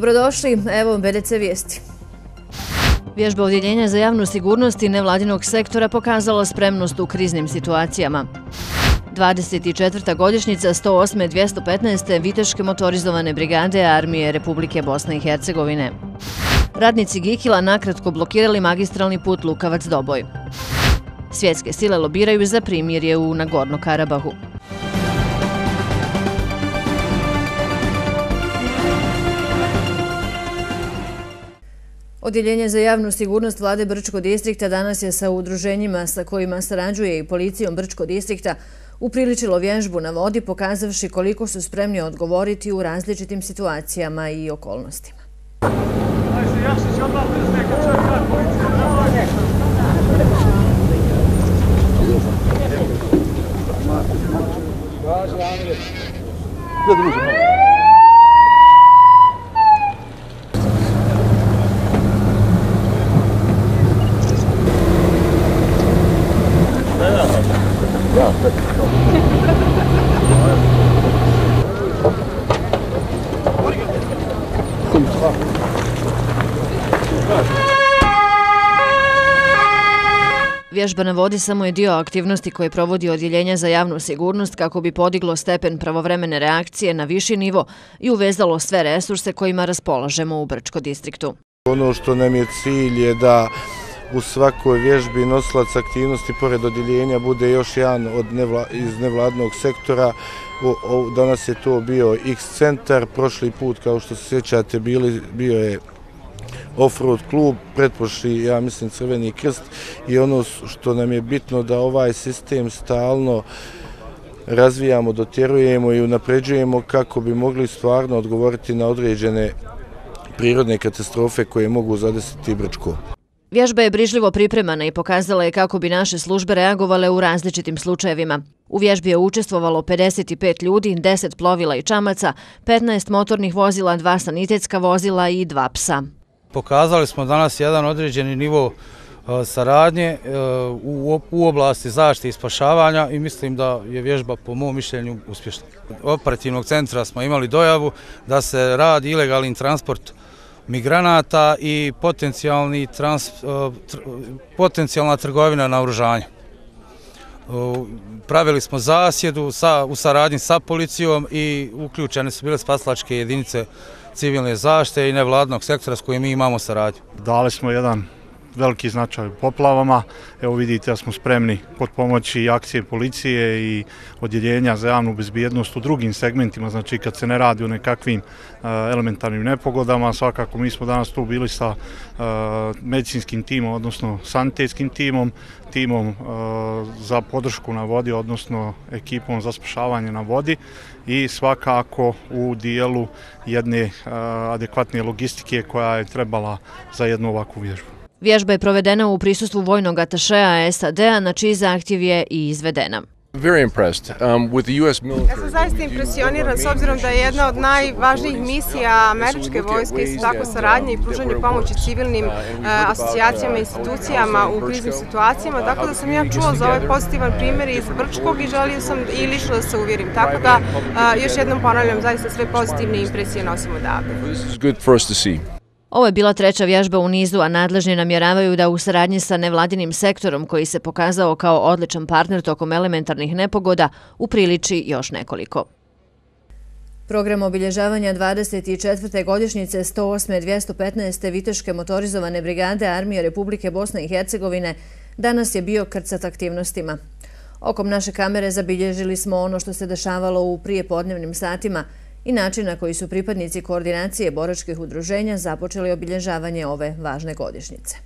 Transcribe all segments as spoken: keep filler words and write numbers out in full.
Dobrodošli, evo B D C vijesti. Vježba Odjeljenja za javnu sigurnost i nevladinog sektora pokazala spremnost u kriznim situacijama. dvadeset četvrta godišnjica sto osme dvjesto petnaeste Viteške motorizovane brigade Armije Republike Bosne i Hercegovine. Radnici Gikila nakratko blokirali magistralni put Lukavac-Doboj. Svjetske sile lobiraju za primirje u Nagorno-Karabahu. Odjeljenje za javnu sigurnost vlade Brčko distrikta danas je sa udruženjima sa kojima sarađuje i policijom Brčko distrikta upriličilo vježbu na vodi, pokazavši koliko su spremni odgovoriti u različitim situacijama i okolnostima. Vježba na vodi samo je dio aktivnosti koje provodi Odjeljenje za javnu sigurnost kako bi podiglo stepen pravovremene reakcije na viši nivo i uvezalo sve resurse kojima raspolažemo u Brčko distriktu. Ono što nam je cilj je da u svakoj vježbi nosilac aktivnosti pored odjeljenja bude još jedan od nevla, iz nevladnog sektora. O, o, danas je to bio X-centar, prošli put, kao što se sjećate, bili, bio je Offroad klub, pretprošli, ja mislim, Crveni krst, i ono što nam je bitno da ovaj sistem stalno razvijamo, dotjerujemo i unapređujemo kako bi mogli stvarno odgovoriti na određene prirodne katastrofe koje mogu zadesiti Brčko. Vježba je brižljivo pripremana i pokazala je kako bi naše službe reagovale u različitim slučajevima. U vježbi je učestvovalo pedeset pet ljudi, deset plovila i čamaca, petnaest motornih vozila, dva sanitetska vozila i dva psa. Pokazali smo danas jedan određeni nivo saradnje u oblasti zaštite i spašavanja i mislim da je vježba po mom mišljenju uspješna. Operativnog centra smo imali dojavu da se radi ilegalni transport migranata i potencijalni trans, potencijalna trgovina naoružanja. Pravili smo zasjedu sa, u saradnji sa policijom i uključene su bile spasilačke jedinice civilne zaštite i nevladnog sektora s kojim mi imamo saradnju. Dali smo jedan veliki značaj u poplavama. Evo vidite da smo spremni pod pomoći i akcije policije i odjeljenja za javnu bezbjednost u drugim segmentima, znači kad se ne radi o nekakvim uh, elementarnim nepogodama. Svakako mi smo danas tu bili sa uh, medicinskim timom, odnosno sanitetskim timom, timom uh, za podršku na vodi, odnosno ekipom za spašavanje na vodi i svakako u dijelu jedne uh, adekvatne logistike koja je trebala za jednu ovakvu vježbu. Vježba je provedena u prisustvu vojnog atašeja S A D-a, na čiji zahtjev je i izvedena. Ja sam zaista impresioniran s obzirom da je jedna od najvažnijih misija američke vojske isto tako saradnje i pružanje pomoći civilnim uh, asocijacijama i institucijama u kriznim situacijama, tako da sam ja čuo za ovaj pozitivan primjer iz Brčkog i želio sam i lično da se uvjerim. Tako da uh, još jednom ponavljam, zaista sve pozitivne impresije nosimo odavde. Ovo je bila treća vježba u nizu, a nadležni namjeravaju da u saradnji sa nevladinim sektorom, koji se pokazao kao odličan partner tokom elementarnih nepogoda, upriliči još nekoliko. Program obilježavanja dvadeset četvrte godišnjice sto osme dvjesto petnaeste Viteške motorizovane brigade Armije Republike Bosne i Hercegovine danas je bio krcat aktivnostima. Okom naše kamere zabilježili smo ono što se dešavalo u prijepodnevnim satima i način na koji su pripadnici koordinacije boračkih udruženja započeli obilježavanje ove važne godišnjice.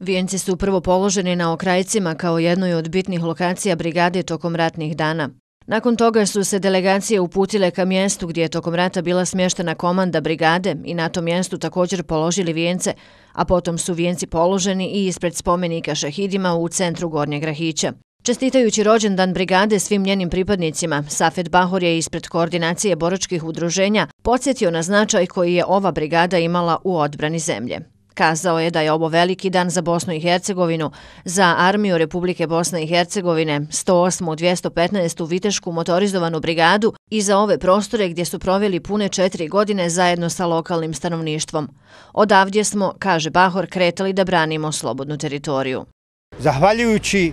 Vijenci su prvo položeni na Okrajcima kao jednoj od bitnih lokacija brigade tokom ratnih dana. Nakon toga su se delegacije uputile ka mjestu gdje je tokom rata bila smještena komanda brigade i na tom mjestu također položili vijence, a potom su vijenci položeni i ispred spomenika šehidima u centru Gornjeg Rahića. Čestitajući rođendan brigade svim njenim pripadnicima, Safet Bahor je ispred koordinacije boračkih udruženja podsjetio na značaj koji je ova brigada imala u odbrani zemlje. Kazao je da je ovo veliki dan za Bosnu i Hercegovinu, za Armiju Republike Bosne i Hercegovine, sto osmu dvjesto petnaestu Vitešku motorizovanu brigadu i za ove prostore gdje su proveli pune četiri godine zajedno sa lokalnim stanovništvom. Odavdje smo, kaže Bahor, kretali da branimo slobodnu teritoriju. Zahvaljujući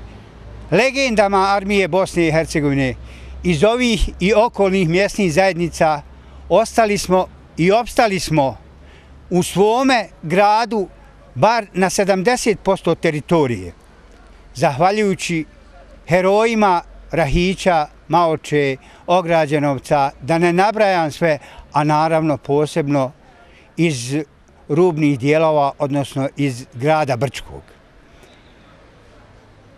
legendama Armije Bosne i Hercegovine iz ovih i okolnih mjesnih zajednica ostali smo i opstali smo u svome gradu bar na sedamdeset posto teritorije. Zahvaljujući herojima Rahića, Maoče, Ograđenovca, da ne nabrajam sve, a naravno posebno iz rubnih dijelova, odnosno iz grada Brčkog.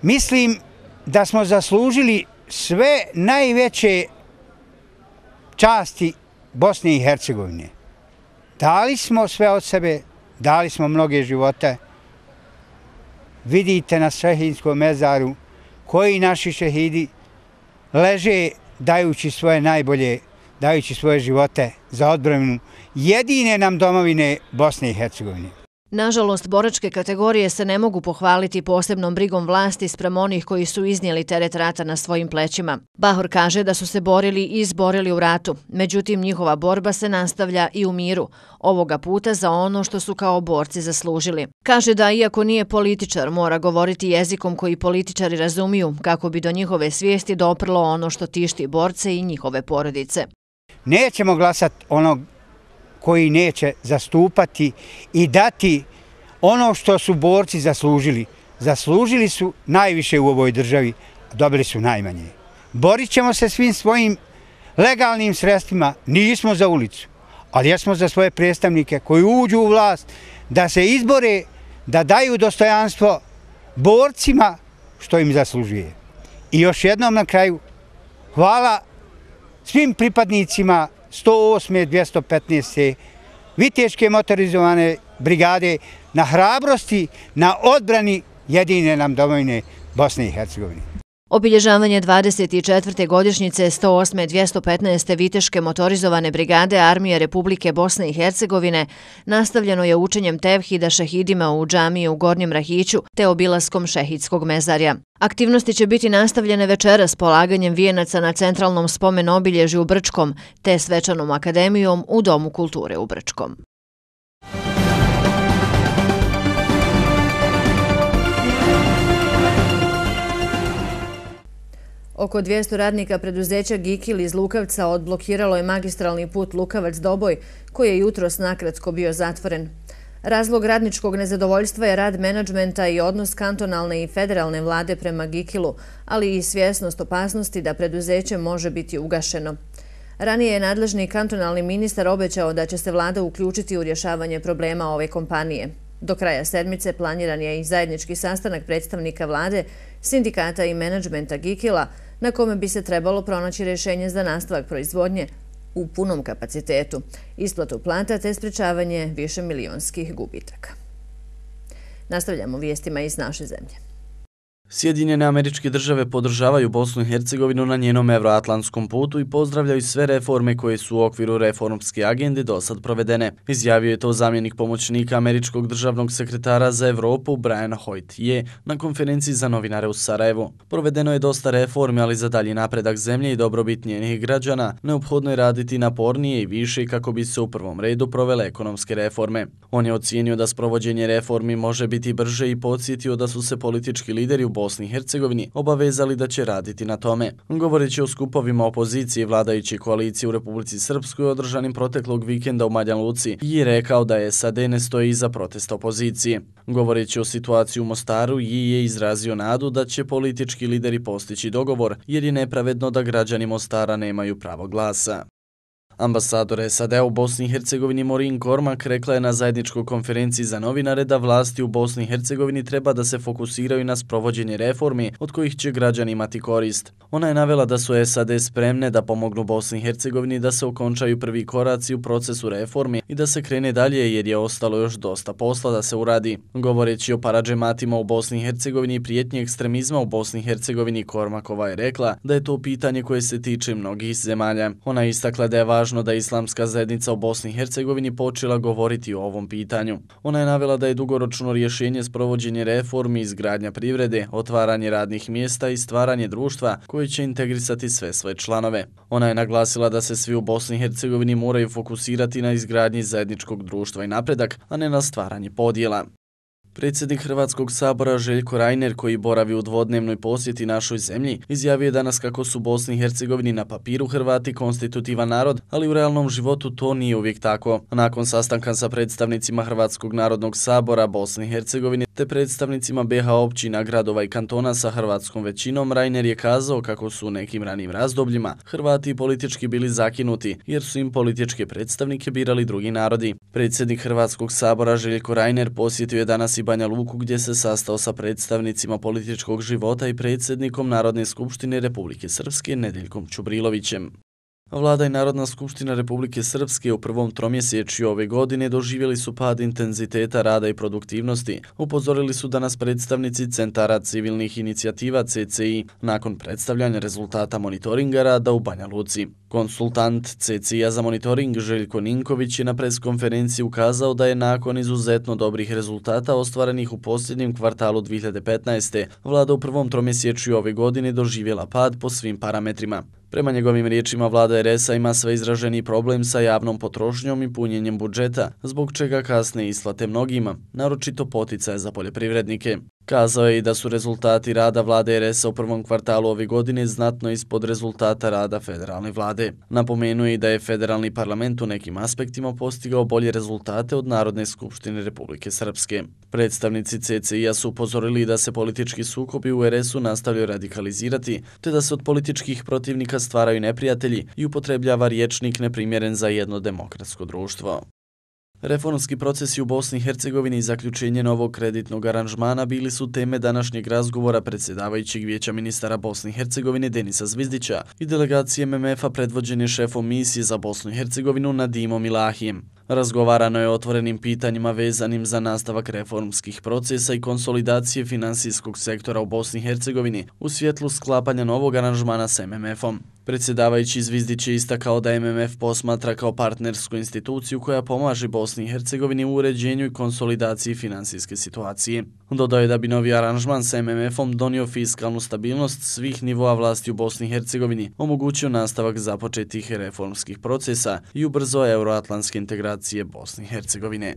Mislim da smo zaslužili sve najveće časti Bosne i Hercegovine. Dali smo sve od sebe, dali smo mnoge živote. Vidite na šehidskom mezaru koji naši šehidi leže dajući svoje najbolje, dajući svoje živote za odbranu jedine nam domovine Bosne i Hercegovine. Nažalost, boračke kategorije se ne mogu pohvaliti posebnom brigom vlasti sprem onih koji su iznijeli teret rata na svojim plećima. Bahor kaže da su se borili i izborili u ratu, međutim njihova borba se nastavlja i u miru, ovoga puta za ono što su kao borci zaslužili. Kaže da iako nije političar, mora govoriti jezikom koji političari razumiju kako bi do njihove svijesti doprlo ono što tišti borce i njihove porodice. Nećemo glasati onog koji neće zastupati i dati ono što su borci zaslužili. Zaslužili su najviše u ovoj državi, a dobili su najmanje. Borit ćemo se svim svojim legalnim sredstvima, nismo za ulicu, ali jesmo za svoje predstavnike koji uđu u vlast, da se izbore, da daju dostojanstvo borcima što im zaslužuje. I još jednom na kraju, hvala svim pripadnicima sto osme dvjesto petnaeste Viteške motorizovane brigade na hrabrosti, na odbrani jedine nam domovine Bosne i Hercegovine. Obilježavanje dvadeset četvrte godišnjice sto osme dvjesto petnaeste Viteške motorizovane brigade Armije Republike Bosne i Hercegovine nastavljeno je učenjem tevhida šehidima u džamiji u Gornjem Rahiću te obilaskom šehidskog mezarja. Aktivnosti će biti nastavljene večeras polaganjem vijenaca na centralnom spomen obilježju u Brčkom te svečanom akademijom u Domu kulture u Brčkom. Oko dvjesto radnika preduzeća Gikil iz Lukavca odblokiralo je magistralni put Lukavac-Doboj, koji je jutros nakratko bio zatvoren. Razlog radničkog nezadovoljstva je rad menadžmenta i odnos kantonalne i federalne vlade prema Gikilu, ali i svjesnost opasnosti da preduzeće može biti ugašeno. Ranije je nadležni kantonalni ministar obećao da će se vlada uključiti u rješavanje problema ove kompanije. Do kraja sedmice planiran je i zajednički sastanak predstavnika vlade, sindikata i menadžmenta Gikila, na kome bi se trebalo pronaći rješenje za nastavak proizvodnje u punom kapacitetu, isplatu plata te sprečavanje višemilionskih gubitaka. Nastavljamo vijestima iz naše zemlje. Sjedinjene Američke Države podržavaju Bosnu i Hercegovinu na njenom evroatlantskom putu i pozdravljaju sve reforme koje su u okviru reformske agende dosad provedene. Izjavio je to zamjenik pomoćnika Američkog državnog sekretara za Evropu Brian Hoyt je na konferenciji za novinare u Sarajevu. Provedeno je dosta reformi, ali za dalji napredak zemlje i dobrobit njenih građana neophodno je raditi napornije i više kako bi se u prvom redu provele ekonomske reforme. On je ocijenio da sprovođenje reformi može biti brže i podsjetio da su se politički lideri u Bosni i Hercegovini obavezali da će raditi na tome. Govoreći o skupovima opozicije i vladajuće koalicije u Republici Srpskoj održanim proteklog vikenda u Banja Luci je rekao da je S A D ne stoji iza protesta opozicije. Govoreći o situaciji u Mostaru je izrazio nadu da će politički lideri postići dogovor jer je nepravedno da građani Mostara nemaju pravo glasa. Ambasador S A D u Bosni i Hercegovini Maureen Cormack rekla je na zajedničkoj konferenciji za novinare da vlasti u Bosni i Hercegovini treba da se fokusiraju na sprovođenje reformi od kojih će građani imati korist. Ona je navela da su S A D spremne da pomognu Bosni i Hercegovini da se okončaju prvi koraci u procesu reformi i da se krene dalje jer je ostalo još dosta posla da se uradi. Govoreći o paradžematima u Bosni i Hercegovini i prijetnji ekstremizma u Bosni i Hercegovini, Cormackova je rekla da je to pitanje koje se tiče mnogih zemalja. Ona je istakla da je važno važno da islamska zajednica u Bosni i Hercegovini počela govoriti o ovom pitanju. Ona je navela da je dugoročno rješenje sprovođenje reformi, izgradnja privrede, otvaranje radnih mjesta i stvaranje društva koji će integrisati sve svoje članove. Ona je naglasila da se svi u Bosni i Hercegovini moraju fokusirati na izgradnji zajedničkog društva i napredak, a ne na stvaranje podjela. Predsjednik Hrvatskog sabora Željko Reiner, koji boravi u dvodnevnoj posjeti našoj zemlji, izjavio je danas kako su Bosni i Hercegovini na papiru Hrvati konstitutivan narod, ali u realnom životu to nije uvijek tako. Nakon sastanka sa predstavnicima Hrvatskog narodnog sabora Bosne i Hercegovine te predstavnicima B H općina, gradova i kantona sa hrvatskom većinom, Reiner je kazao kako su u nekim ranijim razdobljima Hrvati politički bili zakinuti jer su im političke predstavnike birali drugi narodi. Predsjednik Hrvatskog sabora Željko Reiner posjetio je danas i Banja Luku gdje se sastao sa predstavnicima političkog života i predsjednikom Narodne skupštine Republike Srpske Nedeljkom Čubrilovićem. Vlada i Narodna skupština Republike Srpske u prvom tromjesečju ove godine doživjeli su pad intenziteta rada i produktivnosti. Upozorili su danas predstavnici Centara civilnih inicijativa C C I nakon predstavljanja rezultata monitoringa rada u Banja Luci. Konsultant C C I-a za monitoring Željko Ninković je na preskonferenciji ukazao da je nakon izuzetno dobrih rezultata ostvarenih u posljednjem kvartalu dvije hiljade petnaeste. vlada u prvom tromjesečju ove godine doživjela pad po svim parametrima. Prema njegovim riječima, vlada R S-a ima sve izraženiji problem sa javnom potrošnjom i punjenjem budžeta, zbog čega kasne isplate mnogima, naročito poticaje za poljoprivrednike. Kazao je i da su rezultati rada vlade R S-a u prvom kvartalu ove godine znatno ispod rezultata rada federalne vlade. Napomenuo je i da je federalni parlament u nekim aspektima postigao bolje rezultate od Narodne skupštine Republike Srpske. Predstavnici C C I-a su upozorili da se politički sukobi u R S-u nastavljaju radikalizirati, te da se od političkih protivnika stvaraju neprijatelji i upotrebljava rječnik neprimjeren za jedno demokratsko društvo. Reformski procesi u Bosni i Hercegovini i zaključenje novog kreditnog aranžmana bili su teme današnjeg razgovora predsjedavajućeg vijeća ministara Bosne i Hercegovine Denisa Zvizdića i delegacije M M F-a predvođene šefom misije za Bosnu i Hercegovinu Nadimom Ilahijem. Razgovarano je o otvorenim pitanjima vezanim za nastavak reformskih procesa i konsolidacije finansijskog sektora u Bosni i Hercegovini u svjetlu sklapanja novog aranžmana s M M F-om. Predsjedavajući Zvizdić je istakao da M M F posmatra kao partnersku instituciju koja pomaže Bosni i Hercegovini u uređenju i konsolidaciji finansijske situacije. Dodao je da bi novi aranžman s M M F-om donio fiskalnu stabilnost svih nivoa vlasti u Bosni i Hercegovini, omogućio nastavak započetih reformskih procesa i ubrzao euroatlantske integracije Bosne i Hercegovine.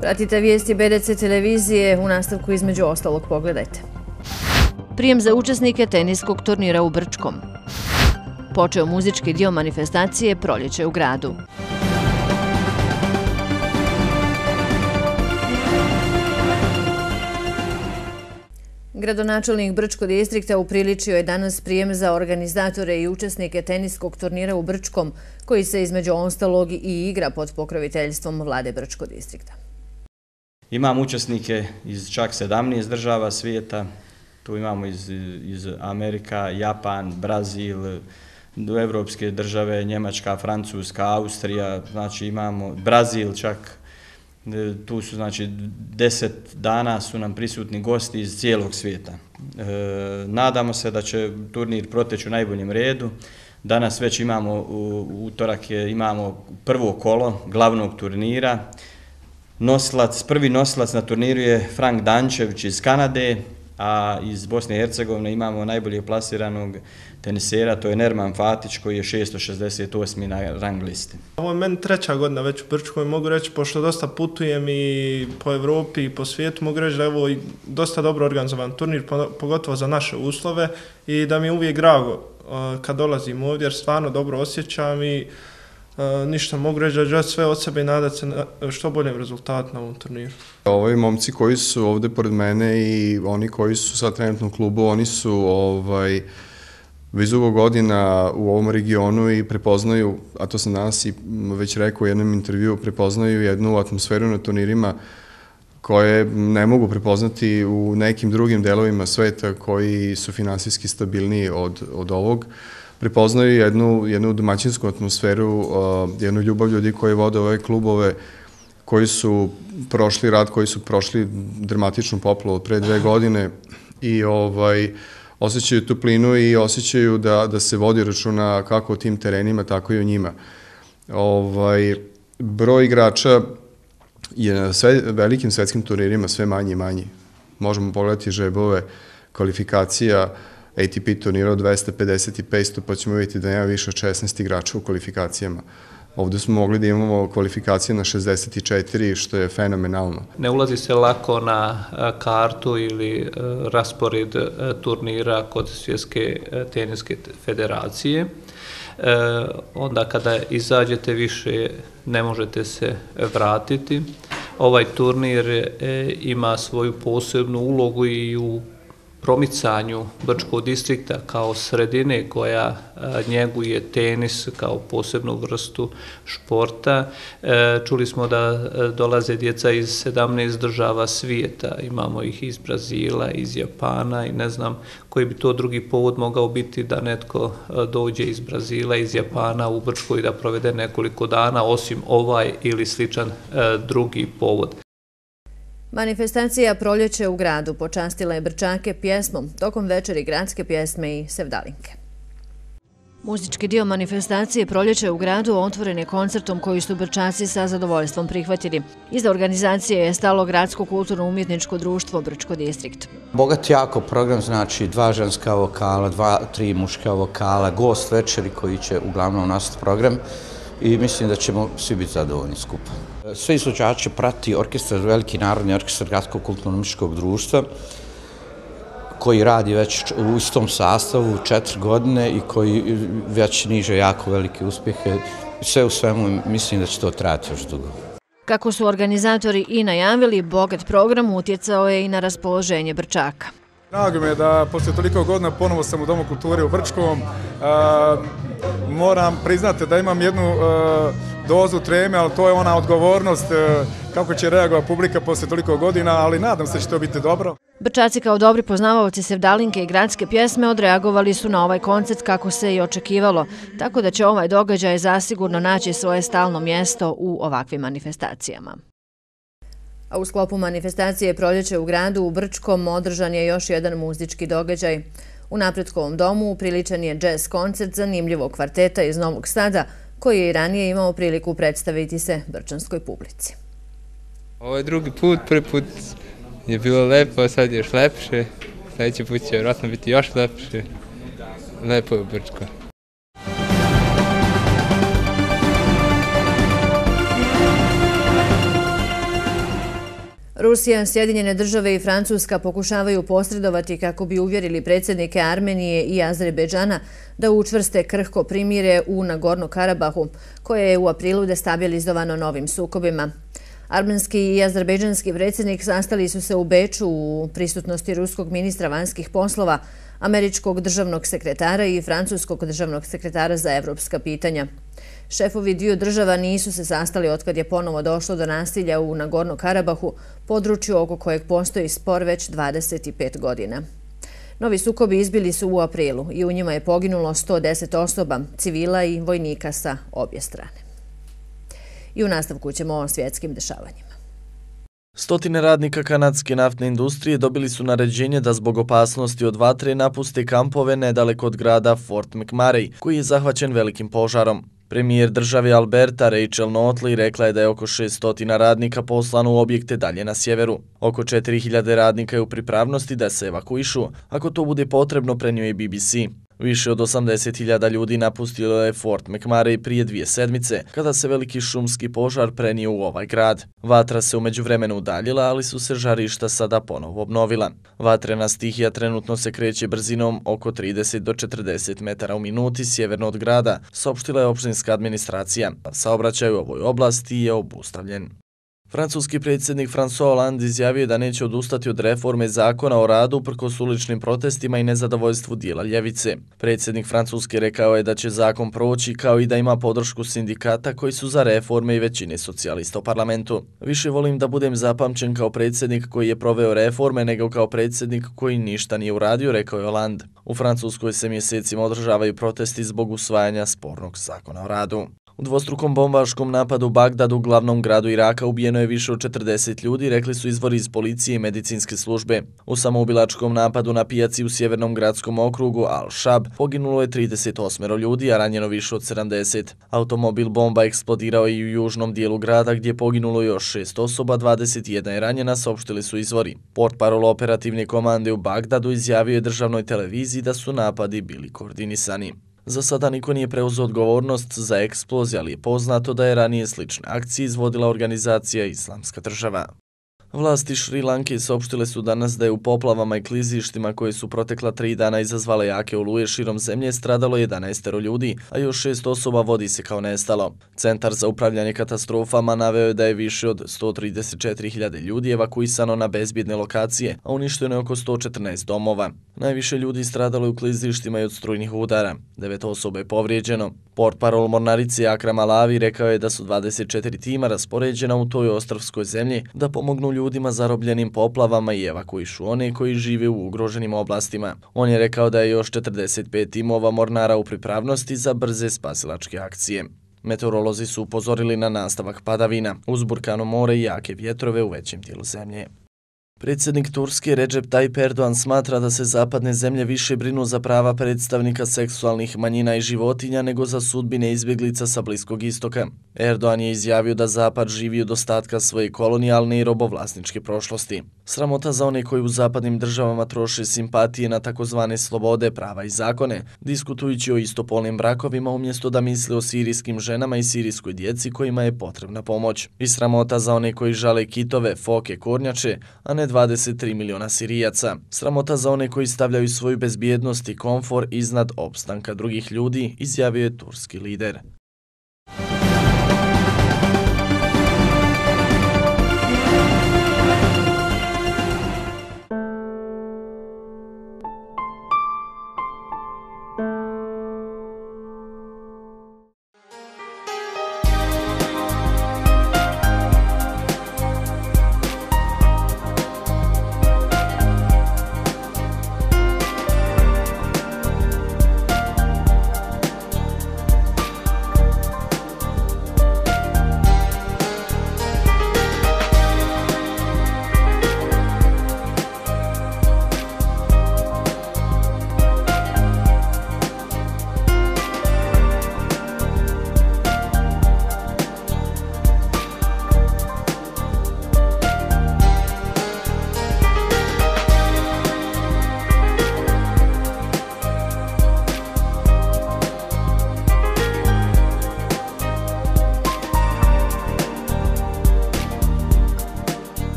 Pratite vijesti B D C televizije, u nastavku između ostalog pogledajte. Prijem za učesnike teniskog turnira u Brčkom. Počeo muzički dio manifestacije Proljeće u gradu. Gradonačelnik Brčkog distrikta upriličio je danas prijem za organizatore i učesnike teniskog turnira u Brčkom, koji se između ostalog i igra pod pokroviteljstvom vlade Brčkog distrikta. Imamo učesnike iz čak sedamnaest država svijeta, tu imamo iz, iz Amerika, Japan, Brazil, evropske države, Njemačka, Francuska, Austrija, znači imamo Brazil čak, tu su znači deset dana su nam prisutni gosti iz cijelog svijeta. E, nadamo se da će turnir proteći u najboljem redu. Danas već imamo, u utorak je, imamo prvo kolo glavnog turnira. Nosilac, prvi nosilac na turniru je Frank Dančević iz Kanade, a iz Bosne i Hercegovine imamo najbolje plasiranog tenisera, to je Nerman Fatić koji je šesto šezdeset osmi na rang listi. Ovo je meni treća godina već u Brčkoj, mogu reći, pošto dosta putujem i po Evropi i po svijetu, mogu reći da je ovo dosta dobro organizovan turnir, pogotovo za naše uslove i da mi je uvijek drago kad dolazim ovdje jer stvarno dobro osjećam i Uh, ništa, mogu reći da želi sve od sebe i nadati se na što boljem rezultatu na ovom turniru. Ovi momci koji su ovdje pored mene i oni koji su sad trenutno u klubu, oni su ovaj, već dugo godina u ovom regionu i prepoznaju, a to sam danas i već rekao u jednom intervju, prepoznaju jednu atmosferu na turnirima koje ne mogu prepoznati u nekim drugim delovima sveta koji su finansijski stabilniji od, od ovog. Prepoznaju jednu, jednu domaćinsku atmosferu, uh, jednu ljubav ljudi koji vode ove klubove koji su prošli rad, koji su prošli dramatičnu poplavu pre dve godine i ovaj, osjećaju toplinu i osjećaju da, da se vodi računa kako o tim terenima, tako i o njima. Ovaj, broj igrača je na sve, velikim svetskim turnirima sve manji i manji. Možemo pogledati žebove kvalifikacija A T P turnira od dvesta pedeset i petsto, pa ćemo vidjeti da nema više od šesnaest igrača u kvalifikacijama. Ovdje smo mogli da imamo kvalifikacije na šezdeset četiri, što je fenomenalno. Ne ulazi se lako na kartu ili raspored turnira kod Svjetske teniske federacije. Onda kada izađete više ne možete se vratiti. Ovaj turnir ima svoju posebnu ulogu i u promicanju Brčkog distrikta kao sredine koja njeguje tenis kao posebnu vrstu športa. Čuli smo da dolaze djeca iz sedamnaest država svijeta, imamo ih iz Brazila, iz Japana i ne znam koji bi to drugi povod mogao biti da netko dođe iz Brazila, iz Japana u Brčko i da provede nekoliko dana, osim ovaj ili sličan drugi povod. Manifestacija Proljeće u gradu počastila je Brčake pjesmom tokom večeri gradske pjesme i sevdalinke. Muzički dio manifestacije Proljeće u gradu otvoren je koncertom koji su Brčaci sa zadovoljstvom prihvatili. Iza organizacije je stalo Gradsko kulturno-umjetničko društvo Brčko distrikt. Bogat jako program, znači dva ženska vokala, dva, tri muška vokala, gost večeri koji će uglavnom nastati program i mislim da ćemo svi biti zadovoljni skupa. Sve izvođače prati orkestar, veliki narodni orkestar Gradskog kulturno-umjetničkog društva koji radi već u istom sastavu četiri godine i koji već niže jako velike uspjehe. Sve u svemu mislim da će to trajati još dugo. Kako su organizatori i najavili, bogat program utjecao je i na raspoloženje Brčaka. Drago mi je da poslije toliko godina ponovo sam u Domu kulture u Brčkom. Moram priznati da imam jednu dozu treme, ali to je ona odgovornost kako će reagovati publika poslije toliko godina, ali nadam se da će to biti dobro. Brčaci kao dobri poznavaoci sevdalinke i gradske pjesme odreagovali su na ovaj koncert kako se i očekivalo, tako da će ovaj događaj zasigurno naći svoje stalno mjesto u ovakvim manifestacijama. A u sklopu manifestacije Proljeće u gradu u Brčkom održan je još jedan muzički događaj. U Napretkovom domu upriličen je džez koncert zanimljivog kvarteta iz Novog Sada, koji je i ranije imao priliku predstaviti se brčanskoj publici. Ovo je drugi put, prvi put je bilo lepo, sad je još lepše, sljedeći put će vjerojatno biti još lepše. Lepo je u Brčko. Rusija, Sjedinjene države i Francuska pokušavaju posredovati kako bi uvjerili predsjednike Armenije i Azerbejdžana da učvrste krhko primire u Nagorno-Karabahu, koje je u aprilu destabilizovano novim sukobima. Armenski i azerbejdžanski predsjednik sastali su se u Beču u prisutnosti ruskog ministra vanjskih poslova, američkog državnog sekretara i francuskog državnog sekretara za evropska pitanja. Šefovi dviju država nisu se sastali otkad je ponovo došlo do nasilja u Nagorno-Karabahu, području oko kojeg postoji spor već dvadeset pet godina. Novi sukobi izbili su u aprilu i u njima je poginulo sto deset osoba, civila i vojnika sa obje strane. I u nastavku ćemo o svjetskim dešavanjima. Stotine radnika kanadske naftne industrije dobili su naređenje da zbog opasnosti od vatre napuste kampove nedaleko od grada Fort McMurray, koji je zahvaćen velikim požarom. Premijer države Alberta Rachel Notley rekla je da je oko šesto radnika poslano u objekte dalje na sjeveru. Oko četiri hiljade radnika je u pripravnosti da se evakuišu, ako to bude potrebno, prenio je B B C. Više od osamdeset hiljada ljudi napustilo je Fort McMurray prije dvije sedmice, kada se veliki šumski požar prenio u ovaj grad. Vatra se u međuvremenu udaljila, ali su se žarišta sada ponovo obnovila. Vatrena stihija trenutno se kreće brzinom oko trideset do četrdeset metara u minuti sjeverno od grada, saopštila je opštinska administracija. Saobraćaj u ovoj oblasti je obustavljen. Francuski predsjednik François Hollande izjavio da neće odustati od reforme zakona o radu uprkos uličnim protestima i nezadovoljstvu dijela ljevice. Predsjednik Francuske rekao je da će zakon proći kao i da ima podršku sindikata koji su za reforme i većine socijalista u parlamentu. Više volim da budem zapamćen kao predsjednik koji je proveo reforme nego kao predsjednik koji ništa nije uradio, rekao je Hollande. U Francuskoj se mjesecima održavaju protesti zbog usvajanja spornog zakona o radu. U dvostrukom bombaškom napadu u Bagdadu, glavnom gradu Iraka, ubijeno je više od četrdeset ljudi, rekli su izvori iz policije i medicinske službe. U samoubilačkom napadu na pijaci u sjevernom gradskom okrugu Al-Shab poginulo je trideset osam ljudi, a ranjeno više od sedamdeset. Automobil bomba eksplodirao je i u južnom dijelu grada gdje je poginulo još šest osoba, dvadeset jedna je ranjena, saopštili su izvori. Portparol operativne komande u Bagdadu izjavio je državnoj televiziji da su napadi bili koordinisani. Za sada niko nije preuzeo odgovornost za eksploziju, ali je poznato da je ranije slične akcije izvodila organizacija Islamska država. Vlasti Šri Lanke saopštile su danas da je u poplavama i klizištima koje su protekla tri dana izazvale jake oluje širom zemlje stradalo jedanaest ljudi, a još šest osoba vodi se kao nestalo. Centar za upravljanje katastrofama naveo je da je više od sto trideset četiri hiljade ljudi evakuisano na bezbjedne lokacije, a uništeno je oko sto četrnaest domova. Najviše ljudi stradalo je u klizištima i od strujnih udara. Devet osoba je povrijeđeno. Portparol mornarice Akram Alavi rekao je da su dvadeset četiri tima raspoređena u toj ostrvskoj zemlji da pomognu ljudima zarobljenim poplavama i evakuišu one koji žive u ugroženim oblastima. On je rekao da je još četrdeset pet timova mornara u pripravnosti za brze spasilačke akcije. Meteorolozi su upozorili na nastavak padavina, uzburkano more i jake vjetrove u većem dijelu zemlje. Predsjednik Turske Recep Tayyip Erdogan smatra da se zapadne zemlje više brinu za prava predstavnika seksualnih manjina i životinja nego za sudbine izbjeglica sa Bliskog istoka. Erdogan je izjavio da Zapad živi od ostatka svoje kolonijalne i robovlasničke prošlosti. Sramota za one koji u zapadnim državama troše simpatije na takozvane slobode, prava i zakone, diskutujući o istopolnim brakovima umjesto da misle o sirijskim ženama i sirijskoj djeci kojima je potrebna pomoć. I sramota za one koji žale kitove, foke, kornjače, a ne dvadeset tri miliona Sirijaca. Sramota za one koji stavljaju svoju bezbjednost i komfor iznad opstanka drugih ljudi, izjavio je turski lider.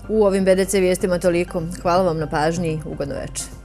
U ovim B D C vijestima toliko. Hvala vam na pažnji i ugodno večer.